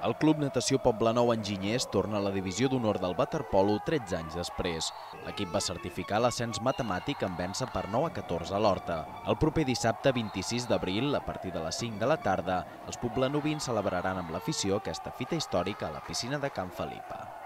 El Club Natació Poblenou Enginyers torna a la divisió d'honor del waterpolo 13 anys després. L'equip va certificar l'ascens matemàtic en vèncer per 9 a 14 a l'Horta. El proper dissabte 26 d'abril, a partir de les 5 de la tarda, els poblenovins celebraran amb l'afició aquesta fita històrica a la piscina de Can Felipa.